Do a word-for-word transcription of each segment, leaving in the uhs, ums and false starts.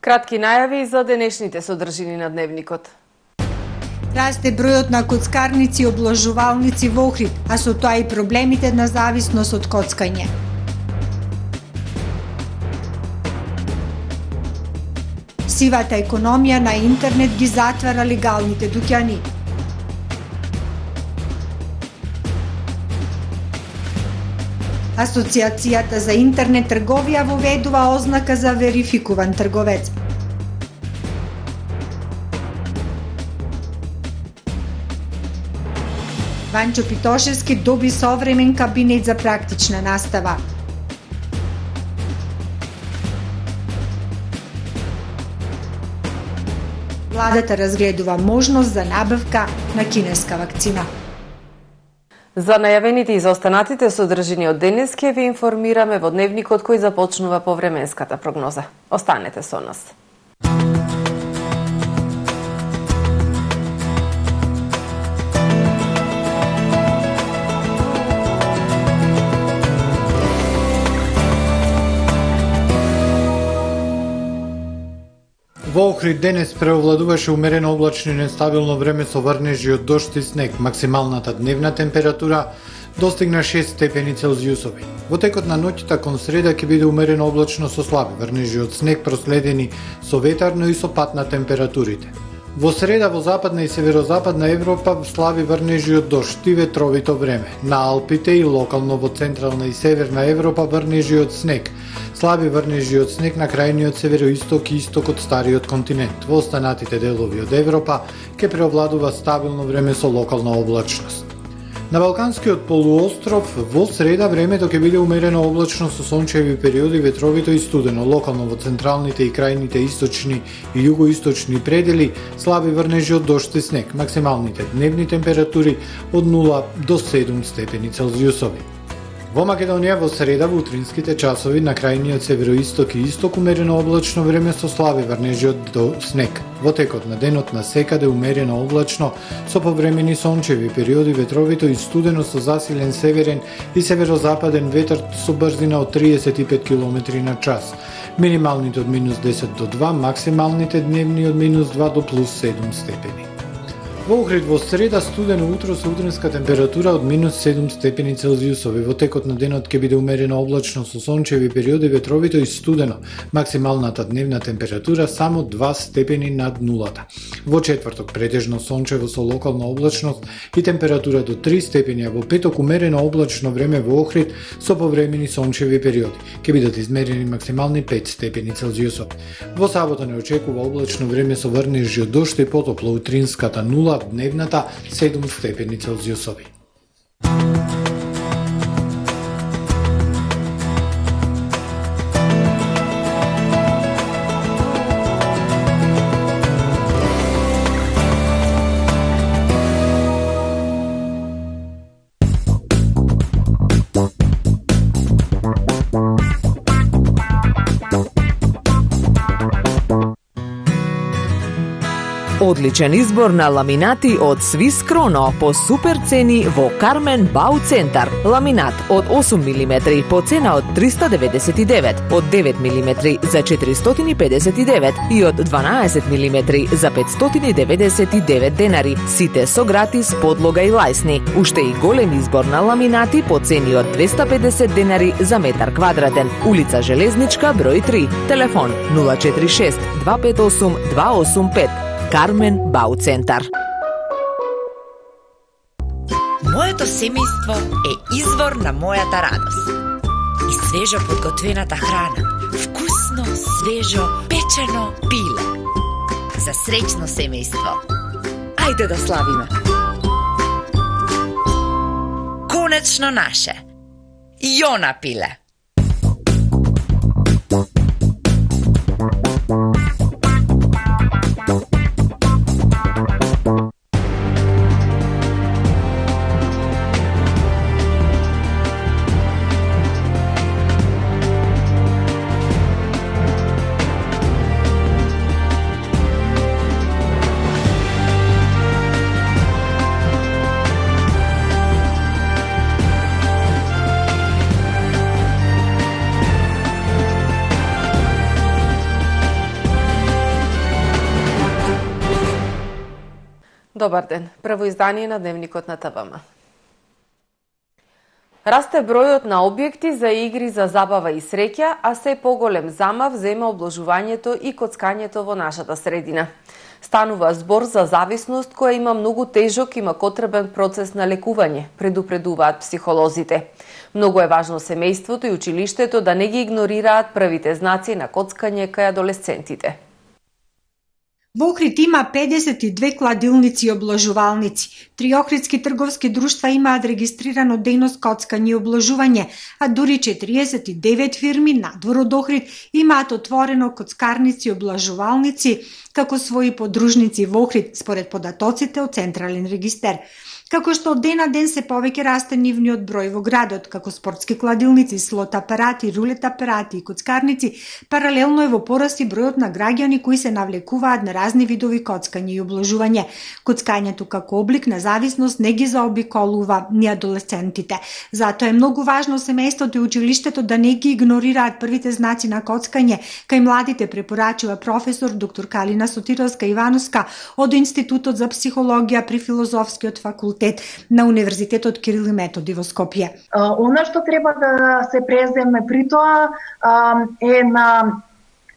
Кратки најави за денешните содржини на дневникот. Расте бројот на коцкарници и обложувалници во Охрид, а со тоа и проблемите на зависност од коцкање. Сивата економија на интернет ги затвара легалните дуќани. Асоцијацијата за интернет трговија воведува ознака за верификуван трговец. Ванчо Питошевски доби современ кабинет за практична настава. Владата разгледува можност за набавка на кинеска вакцина. За најавените и за останатите содржини од денес ќе ви информираме во дневникот кој започнува по временската прогноза. Останете со нас. Во Охрид денес преовладуваше умерено облачно и нестабилно време со врнежи од дожд и снег. Максималната дневна температура достигна шест степени Целзиусови. Во текот на ноќта кон среда ќе биде умерено облачно со слаби врнежи од снег проследени со ветар, но и со пад на температурите. Во среда во западна и северозападна Европа слаби врнежи од дожд и ветровито време. На Алпите и локално во централна и северна Европа врнежи од снег. Слаби врнежи од снег на крајниот североисток и исток од стариот континент. Во останатите делови од Европа ќе преовладува стабилно време со локална облачност. На Балканскиот полуостров во среда времето ќе биде умерено облачно со сончеви периоди, ветровито и студено. Локално во централните и крајните источни и југоисточни предели слаби врнежи од дожд и снег. Максималните дневни температури од нула до седум степени Целзиусови. Во Македонија во среда во утринските часови на крајниот североисток и исток умерено облачно време со слаби врнежи од снег. Во текот на денот на секаде умерено облачно со повремени сончеви периоди, ветровито и студено со засилен северен и северозападен ветар со брзина од триесет и пет километри на час. Минималните од минус десет до два, максималните дневни од минус два до плюс седум степени. Во Охрид во среда студено утро со утринска температура од минус седум степени Целзиусови. Во текот на денот ќе биде умерено облачно со сончеви периоди, ветровито и студено. Максималната дневна температура само два степени над нулата. Во четврток претежно сончево со локална облачност и температура до три степени, а во петок умерено облачно време во Охрид со повремени сончеви периоди. Ќе бидат измерени максимални пет степени Целзиусови. Во сабота не очекува облачно време со врнежи од дожд и потопло, утринската нула, дневната седум степени Целзиусови. Одличен избор на ламинати од Свис Кроно по супер цени во Кармен Бау Центар. Ламинат од осум милиметри по цена од триста деветдесет и девет, од девет милиметри за четиристотини и педесет и девет и од дванаесет милиметри за петстотини деветдесет и девет денари. Сите со гратис подлога и лајсни. Уште и голем избор на ламинати по цени од двеста педесет денари за метар квадратен. Улица Железничка број три. Телефон нула четири шест два пет осум два осум пет. Кармен Бау Центар. Моето семејство е извор на мојата радост. И свежо подготвената храна, вкусно, свежо, печено пиле. За среќно семејство. Ајде да славиме. Конечно наше. Јона пиле. Добар ден. Прво издание на Дневникот на ТВМ. Расте бројот на објекти за игри за забава и среќа, а се поголем замав зема обложувањето и коцкањето во нашата средина. Станува збор за зависност која има многу тежок и макотребен процес на лекување, предупредуваат психолозите. Многу е важно семејството и училиштето да не ги игнорираат првите знаци на коцкање кај адолесцентите. Во Охрид има педесет и две кладилници и обложувалници. Три охридски трговски друштва имаат регистрирано дејност коцкање и обложување, а дури четириесет и девет фирми надвор од Охрид имаат отворено коцкарници и обложувалници како своји подружници во Охрид, според податоците од Централен регистер. Како што од ден на ден се повеќе расте нивниот број во градот, како спортски кладилници, слот апарати, рулет апарати и коцкарници, паралелно е во пораст и бројот на граѓани кои се навлекуваат на разни видови коцкање и обложување. Коцкањето како облик на зависност не ги заобиколува ни адолесцентите. Затоа е многу важно семејството и училиштето да не ги игнорираат првите знаци на коцкање, кај младите препорачува професор доктор Калина Сотировска-Ивановска од Институтот за психологија при Филозофскиот факултет на Универзитетот Кирил и Методи во Скопје. Она што треба да се преземе при тоа е на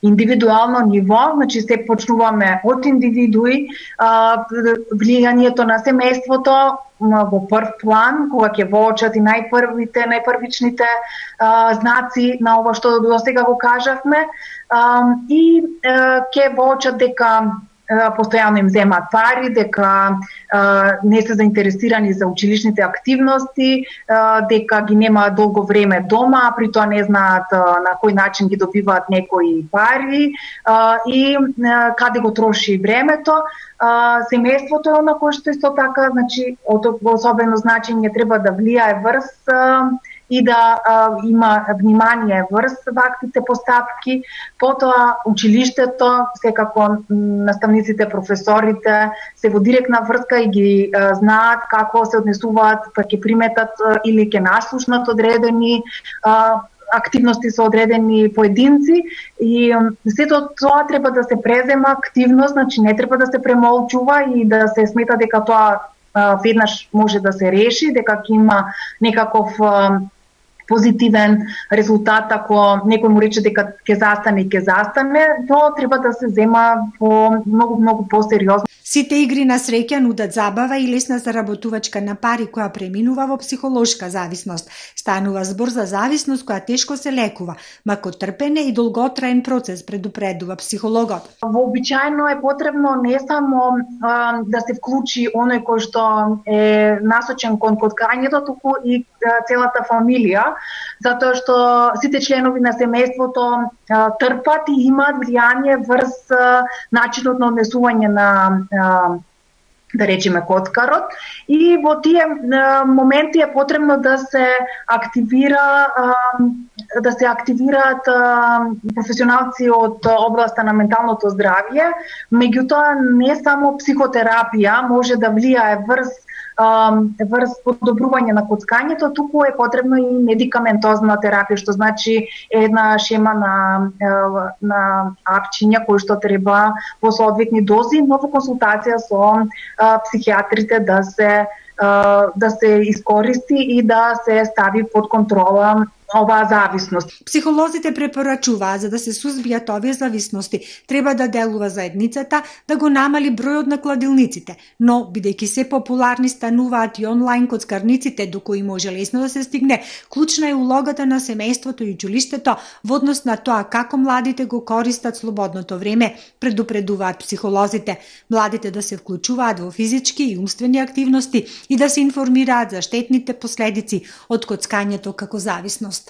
индивидуално ниво, значи се почнуваме од индивидуи, влијанието на семејството во прв план, кога ќе воочат и најпрвите, најпрвичните знаци на ова што досега го кажавме, и ќе воочат дека постојано им земаат пари, дека а, не се заинтересирани за училишните активности, а, дека ги немаат долго време дома, а при тоа не знаат а, на кој начин ги добиваат некои пари а, и а, каде го троши времето. А, семејството на кое што исто така, значи, од особено значење треба да влијае врз а, и да а, има внимание врз ваквите постапки. Потоа училиштето, секако наставниците, професорите се во директна врска и ги а, знаат како се однесуваат, па ќе приметат а, или ќе наслушнат одредени а, активности со одредени поединци и сето тоа треба да се презема активност, значи не треба да се премолчува и да се смета дека тоа а, веднаш може да се реши, дека ќе има некаков а, позитивен резултат ако некој му рече дека ќе застане, ќе застане, тоа треба да се зема по многу многу посериозно. Сите игри на среќа нудат забава и лесна заработувачка на пари која преминува во психолошка зависност. Станува збор за зависност која тешко се лекува, макотрпен е и долготраен процес, предупредува психологот. Вообичаено е потребно не само а, да се вклучи оној кој што е насочен кон коцкањето, туку и а, целата фамилија, затоа што сите членови на семејството а, трпат и имаат влијание врз а, начинот на однесување на а, да речеме коцкарот, и во тие а, моменти е потребно да се активира а, да се активираат а, професионалци од областа на менталното здравје, меѓутоа не само психотерапија може да влијае врз врз подобрување на коцкањето, туку е потребно и медикаментозна терапија, што значи една шема на на апчиња кои што треба во соодветни дози, но во консултација со психијатрите да се да се искористи и да се стави под контрола оваа зависност. Психолозите препорачуваат за да се сузбијат овие зависности, треба да делува заедницата да го намали бројот на кладилниците, но бидејќи се популарни стануваат и онлайн коцкарниците до кои може лесно да се стигне, клучна е улогата на семејството и училиштето во однос на тоа како младите го користат слободното време, предупредуваат психолозите. Младите да се вклучуваат во физички и умствени активности и да се информираат за штетните последици од коцкањето како зависност.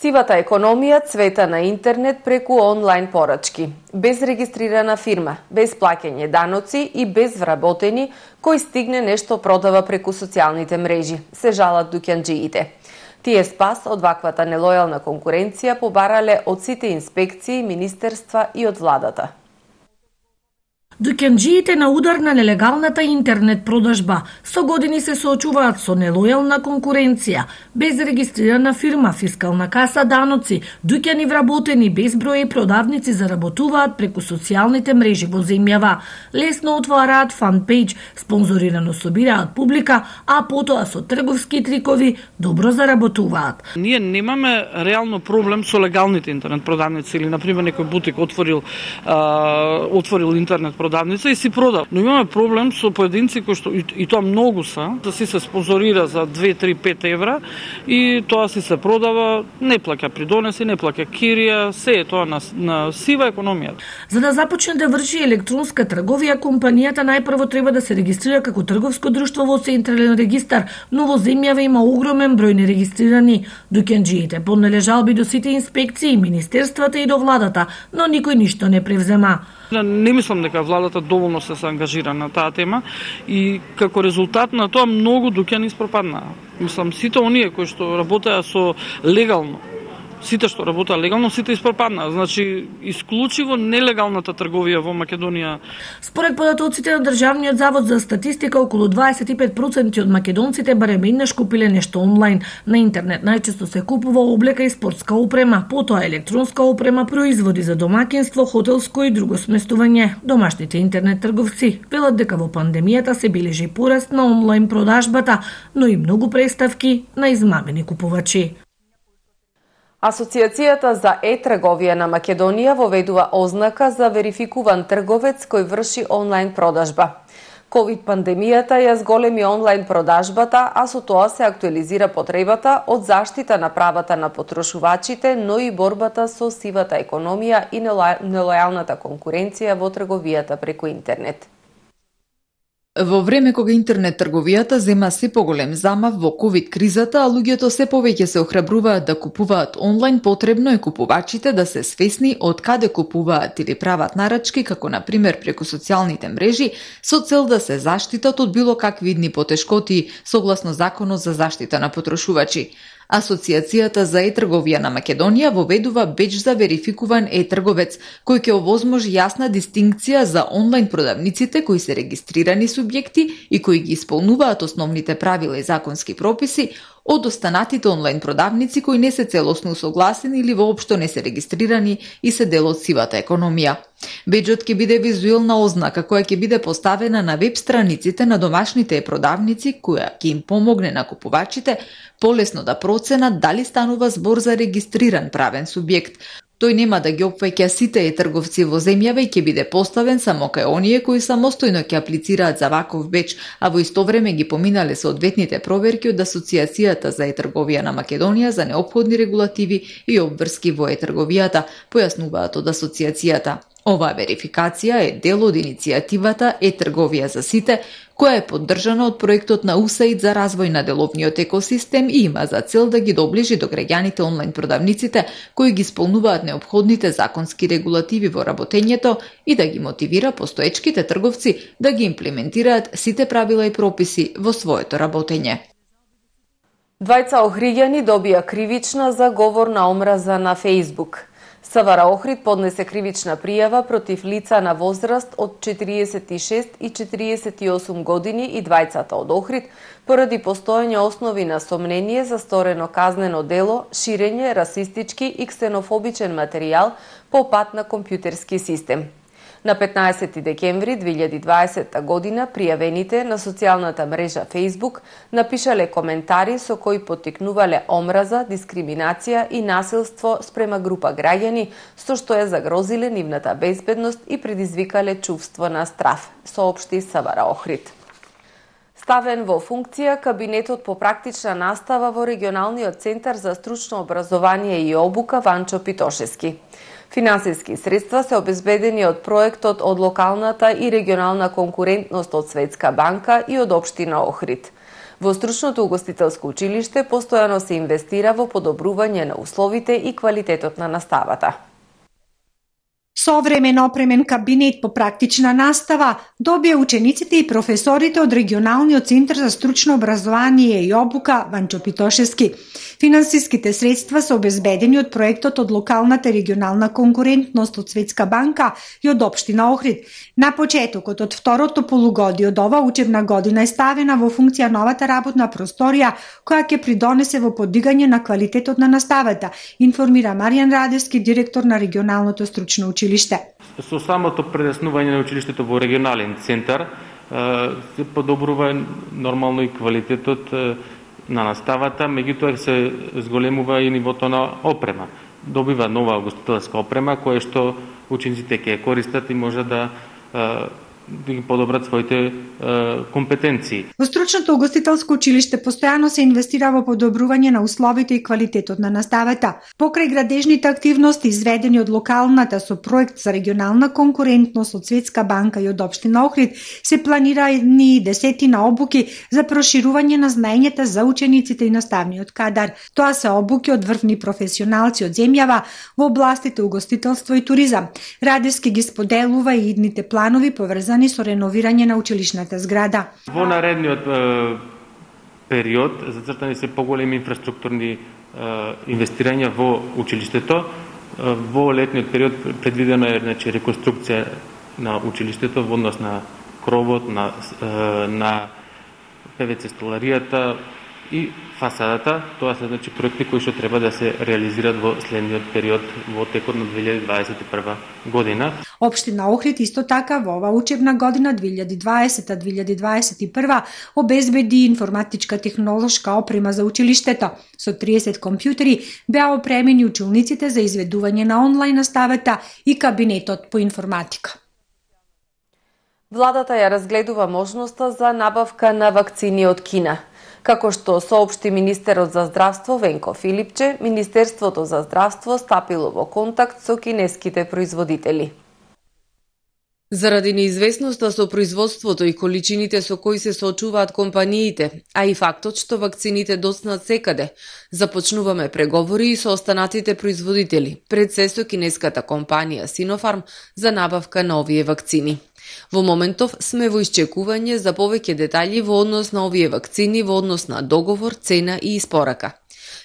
Сивата економија цвета на интернет преку онлайн порачки, без регистрирана фирма, без плаќање даноци и без вработени кој стигне нешто продава преку социјалните мрежи, се жалат дуќанџиите. Тие спас од ваквата нелојална конкуренција побарале од сите инспекции, министерства и од владата. Дуќанџиите на удар на нелегалната интернет продажба со години се соочуваат со нелојална конкуренција, без регистрирана фирма, фискална каса, даноци, дуќани вработени, безброј продавници заработуваат преку социјалните мрежи во земјава. Лесно отвараат фан-пејдж, спонзорирано собираат публика, а потоа со трговски трикови добро заработуваат. Ние немаме реално проблем со легалните интернет продавници или, например, некој бутик отворил а, отворил интернет продавница и си продал. Но имаме проблем со поединци кои што и, и тоа многу се, да си се спонзорира за две, три, пет евра и тоа си се продава, не плаќа придонеси, не плаќа кирија, се е тоа на, на сива економија. За да започне да врши електронска трговија, компанијата најпрво треба да се регистрира како трговско друштво во Централен регистар, но во земјава има огромен број нерегистрирани. Дуќанџиите поднеле жалби до сите инспекции, министерствата и до владата, но никој ништо не превзема. Не мислам дека владата доволно се се ангажира на таа тема и како резултат на тоа многу дуќани испропаднаа. Мислам, сите оние кои што работеа со легално, сите што работеа легално, сите испропаднаа. Значи, исклучиво нелегалната трговија во Македонија. Според податоците на Државниот завод за статистика, околу дваесет и пет проценти од македонците барем еднаш купиле нешто онлайн. На интернет најчесто се купува облека и спортска опрема, потоа електронска опрема, производи за домаќинство, хотелско и друго сместување. Домашните интернет трговци велат дека во пандемијата се бележи пораст на онлайн продажбата, но и многу преставки на измамени купувачи. Асоцијацијата за е-трговија на Македонија воведува ознака за верификуван трговец кој врши онлайн продажба. ковид пандемијата ја зголеми онлайн продажбата, а со тоа се актуализира потребата од заштита на правата на потрошувачите, но и борбата со сивата економија и нелојалната конкуренција во трговијата преку интернет. Во време кога интернет трговијата зема се поголем замав во ковид кризата, а луѓето се повеќе се охрабруваат да купуваат онлайн, потребно е купувачите да се свесни од каде купуваат или прават нарачки, како на пример преку социјалните мрежи, со цел да се заштитат од било какви идни потешкоти согласно Законот за заштита на потрошувачи. Асоцијацијата за е-трговија на Македонија воведува беџ за верификуван е-трговец, кој ќе овозможи јасна дистинкција за онлайн продавниците кои се регистрирани субјекти и кои ги исполнуваат основните правила и законски прописи, од останатите онлайн продавници кои не се целосно усогласени или воопшто не се регистрирани и се дел од сивата економија. Беџот ќе биде визуелна ознака која ќе биде поставена на веб страниците на домашните продавници, која ќе им помогне на купувачите полесно да проценат дали станува збор за регистриран правен субјект. Тој нема да ги опфаќа сите е-трговци во земјава и ќе биде поставен само кај оние кои самостојно ќе аплицираат за ваков беџ, а во исто време ги поминале соодветните проверки од Асоцијацијата за е-трговија на Македонија за неопходни регулативи и обврски во е-трговијата, појаснуваат од Асоцијацијата. Оваа верификација е дел од иницијативата е-трговија за сите, која е поддржана од проектот на УСАИД за развој на деловниот екосистем и има за цел да ги доближи до граѓаните онлайн продавниците кои ги исполнуваат неопходните законски регулативи во работењето и да ги мотивира постоечките трговци да ги имплементираат сите правила и прописи во своето работење. Двајца охриѓани добија кривична за говор на омраза на Фејсбук. Савара Охрид поднесе кривична пријава против лица на возраст од четириесет и шест и четириесет и осум години и двајцата од Охрид поради постоење основи на сомнение за сторено казнено дело, ширење расистички и ксенофобичен материјал по пат на компјутерски систем. На петнаесети декември две илјади и дваесетта година пријавените на социјалната мрежа Facebook напишале коментари со кои поттикнувале омраза, дискриминација и насилство спрема група граѓани, со што ја загрозиле нивната безбедност и предизвикале чувство на страв, соопшти Савара Охрид. Ставен во функција кабинетот по практична настава во регионалниот центар за стручно образование и обука Ванчо Питошевски. Финансиски средства се обезбедени од проектот од локалната и регионална конкурентност од Светска банка и од општина Охрид. Во стручното угостителско училиште постојано се инвестира во подобрување на условите и квалитетот на наставата. Современ опремен кабинет по практична настава добија учениците и професорите од регионалниот центар за стручно образование и обука Ванчо Питошевски. Финансиските средства се обезбедени од проектот од локалната и регионална конкурентност од Светска банка и од општина Охрид. На почетокот од второто полугодие од ова учебна година е ставена во функција новата работна просторија која ќе придонесе во подигање на квалитетот на наставата, информира Маријан Радевски, директор на регионалното стручно училиште. Со самото преснување на училиштето во регионален центар се подобрува нормално и квалитетот на наставата, меѓутоа се зголемува и нивото на опрема. Добива нова угостителска опрема која што учениците ќе ја користат и може да да ги подобрат своите е, компетенции. Во стручното угостителско училиште постојано се инвестира во подобрување на условите и квалитетот на наставата. Покрај градежните активности изведени од локалната со проект за регионална конкурентност од Светска банка и од општина Охрид, се планирани десетина обуки за проширување на знаењата за учениците и наставниот кадар. Тоа се обуки од врвни професионалци од земјава во областите угостителство и туризам. Радевски ги споделува и идните планови поврзани со реновирање на училишната зграда. Во наредниот е, период зацртани се поголеми инфраструктурни е, инвестирања во училиштето. Е, во летниот период предвидено е значи реконструкција на училиштето во однос на кровот, на е, на ПВЦ столаријата и фасадата. Тоа се значи проекти кои што треба да се реализираат во следниот период во текот на две илјади дваесет и прва година. Општина Охрид исто така во ова учебна година две илјади дваесета две илјади дваесет и прва обезбеди информатичка технолошка опрема за училиштето. Со триесет компјутери беа опремени училниците за изведување на онлайн наставата и кабинетот по информатика. Владата ја разгледува можноста за набавка на вакцини од Кина. Како што соопшти министерот за здравство Венко Филипче, Министерството за здравство стапило во контакт со кинеските производители. Заради неизвестноста со производството и количините со кои се соочуваат компаниите, а и фактот што вакцините доцнат секаде, започнуваме преговори и со останатите производители, пред се со кинеската компанија Синофарм за набавка на овие вакцини. Во моментов сме во исчекување за повеќе детали во однос на овие вакцини, во однос на договор, цена и испорака.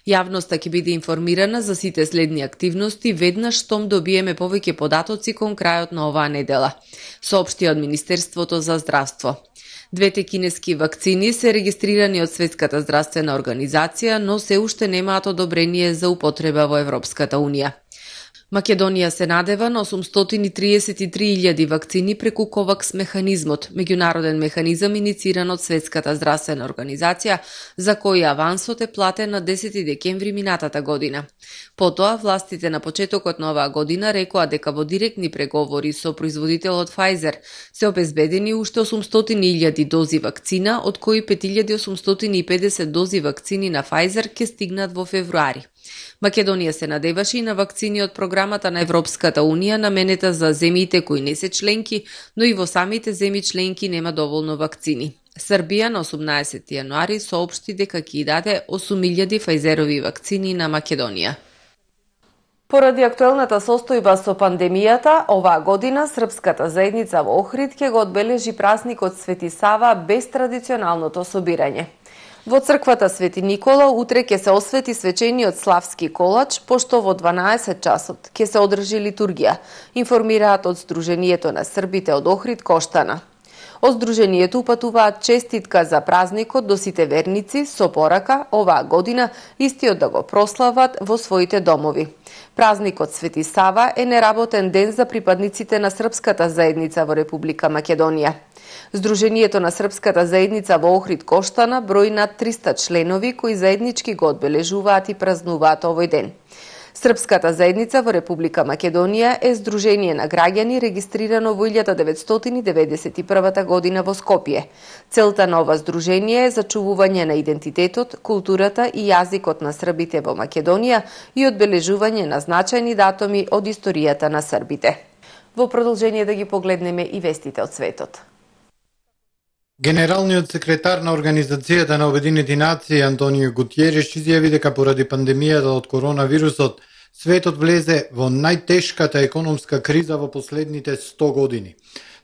Јавноста ќе биде информирана за сите следни активности веднаш штом добиеме повеќе податоци кон крајот на оваа недела, соопшти од Министерството за здравство. Двете кинески вакцини се регистрирани од Светската здравствена организација, но се уште немаат одобрение за употреба во Европската унија. Македонија се надева на осумстотини и триесет и три илјади вакцини преку ковакс механизмот, меѓународен механизам инициран од Светската здравствена организација, за кој авансот е платен на десети декември минатата година. Потоа, властите на почетокот на оваа година рекоа дека во директни преговори со производителот Pfizer се обезбедени уште осумстотини илјади дози вакцина, од кои пет илјади осумстотини и педесет дози вакцини на Pfizer ќе стигнат во февруари. Македонија се надеваше и на вакцини од програмата на Европската унија наменета за земјите кои не се членки, но и во самите земји членки нема доволно вакцини. Србија на осумнаесети јануари соопшти дека ќе даде осум илјади Pfizeroви вакцини на Македонија. Поради актуелната состојба со пандемијата, оваа година српската заедница во Охрид ќе го одбележи празникот Свети Сава без традиционалното собирање. Во црквата Свети Никола утре ќе се освети свечениот славски колач, пошто во дванаесет часот ќе се одржи литургија, информираат од Сдруженијето на србите од Охрид Коштана. Од Сдруженијето упатуваат честитка за празникот до сите верници со порака оваа година истиот да го прослават во своите домови. Празникот Свети Сава е неработен ден за припадниците на српската заедница во Република Македонија. Сдруженијето на српската заедница во Охрид Коштана брои над триста членови кои заеднички го одбележуваат и празнуваат овој ден. Српската заедница во Република Македонија е здружение на граѓани регистрирано во илјада деветстотини деветдесет и прва година во Скопје. Целта на ова здружение е зачувување на идентитетот, културата и јазикот на србите во Македонија и одбележување на значајни датуми од историјата на србите. Во продолжение да ги погледнеме и вестите од светот. Генералниот секретар на Организацијата на Обединети нации Антонио Гутиереш изјави дека поради пандемијата од коронавирусот светот влезе во најтешката економска криза во последните сто години.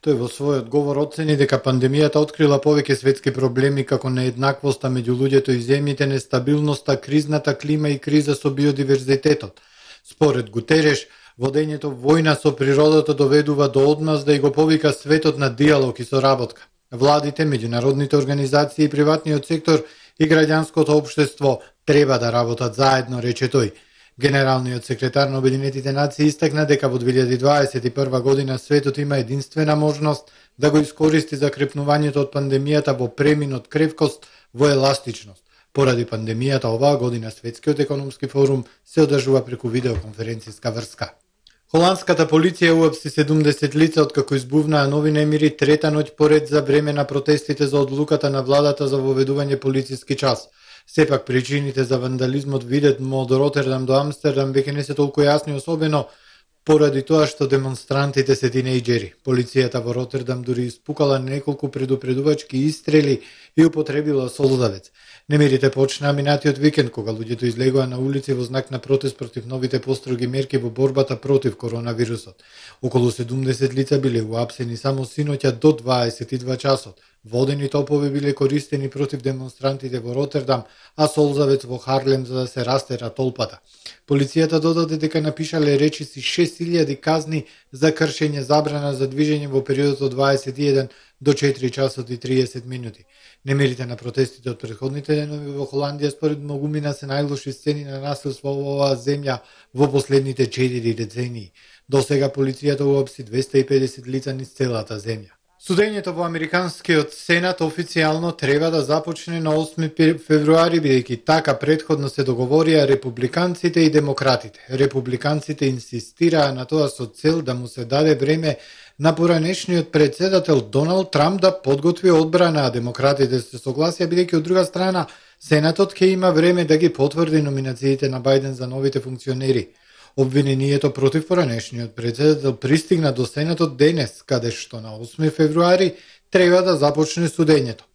Тој во својот говор оцени дека пандемијата открила повеќе светски проблеми како нееднаквоста меѓу луѓето и земјите, нестабилноста, кризната клима и криза со биодиверзитетот. Според Гутереш, водењето војна со природата доведува до одмазда и го повика светот на диалог и соработка. Владите, меѓународните организации и приватниот сектор и граѓанското општество треба да работат заедно, рече тој. Генералниот секретар на Обединетите нации истакна дека во две илјади дваесет и прва година светот има единствена можност да го искористи закрепнувањето од пандемијата во премин од кревкост во еластичност. Поради пандемијата оваа година Светскиот економски форум се одржува преку видеоконференцијска врска. Холандската полиција уапси седумдесет лица откако избувнаа нови немири трета ноќ поред за време на протестите за одлуката на владата за воведување полициски час. Сепак причините за вандализмот видетмо од Ротердам до Амстердам веќе не се толку јасни, особено поради тоа што демонстрантите се тинејџери. Полицијата во Ротердам дури испукала неколку предупредувачки истрели и употребила солзавец. Немирите почнаа минатиот викенд, кога луѓето излегоа на улици во знак на протест против новите построги мерки во борбата против коронавирусот. Околу седумдесет лица биле уапсени само синоќа до дваесет и два часот. Водени топови биле користени против демонстрантите во Ротердам, а солзавец во Харлем за да се растера толпата. Полицијата додаде дека напишале речиси шест илјади казни за кршење забрана за движење во периодот од дваесет и еден до четири часот и триесет минути. Немирите на протестите од претходните денови во Холандија според многумина се најлоши сцени на насилство во оваа земја во последните четири децении. До сега полицијата уапси двесте и педесет лица низ целата земја. Судењето во Американскиот Сенат официјално треба да започне на осми февруари, бидејќи така претходно се договорија републиканците и демократите. Републиканците инсистираа на тоа со цел да му се даде време на поранешниот председател Доналд Трамп да подготви одбрана, а демократите се согласија, бидејќи од друга страна Сенатот ќе има време да ги потврди номинациите на Бајден за новите функционери. Обвинението против поранешниот председател пристигна до Сенатот денес, каде што на осми февруари треба да започне судењето.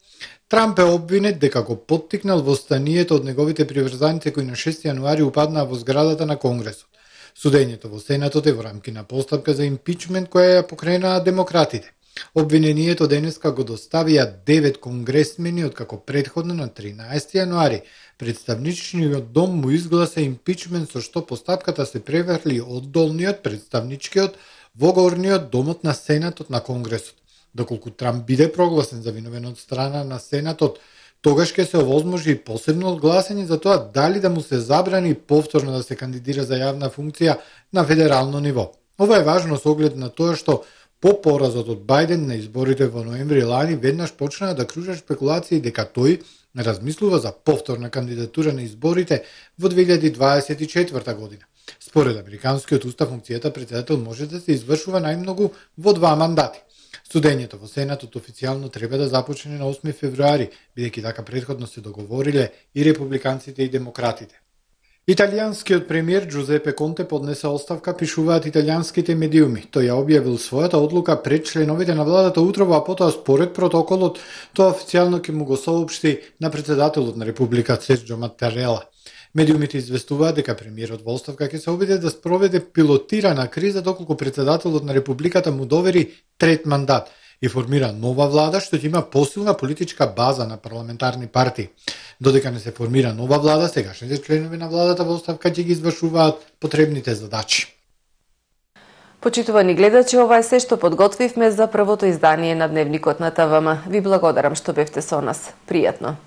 Трамп е обвинет дека го поттикнал востанието од неговите приврзаници кои на шести јануари упаднаа во зградата на Конгресот. Судењето во Сенатот е во рамки на постапка за импичмент која ја покренаа демократите. Обвинението денеска го доставија девет конгресмени, откако претходно на тринаесети јануари Представничниот дом му изгласа импичмент со што постапката се преврли од долниот представничкиот во горниот домот на Сенатот на Конгресот. Доколку Трамп биде прогласен за виновен од страна на Сенатот, тогаш ќе се овозможи и посебно одгласање за тоа дали да му се забрани повторно да се кандидира за јавна функција на федерално ниво. Ова е важно со оглед на тоа што по поразот од Бајден на изборите во ноември лани веднаш почнаа да кружат спекулации дека тој размислува за повторна кандидатура на изборите во две илјади дваесет и четврта година. Според Американскиот устав, функцијата председател може да се извршува најмногу во два мандати. Судењето во Сенатот официјално треба да започне на осми февруари, бидејќи така претходно се договориле и републиканците и демократите. Италијанскиот премиер Джузепе Конте поднесе оставка, пишуваат италијанските медиуми. Тој ја објавил својата одлука пред членовите на владата утрово, а потоа според протоколот тоа официјално ќе му го соопшти на председателот на Република Серджо Маттарела. Медиумите известуваат дека премиерот во оставка ќе се обиде да спроведе пилотирана криза доколку председателот на Републиката му довери трет мандат и формира нова влада што ќе има посилна политичка база на парламентарни партии. Додека не се формира нова влада, сегашните членови на владата во оставка ќе ги извршуваат потребните задачи. Почитувани гледачи, ова е се што подготвивме за првото издание на Дневникот на ТВМ. Ви благодарам што бевте со нас. Пријатно.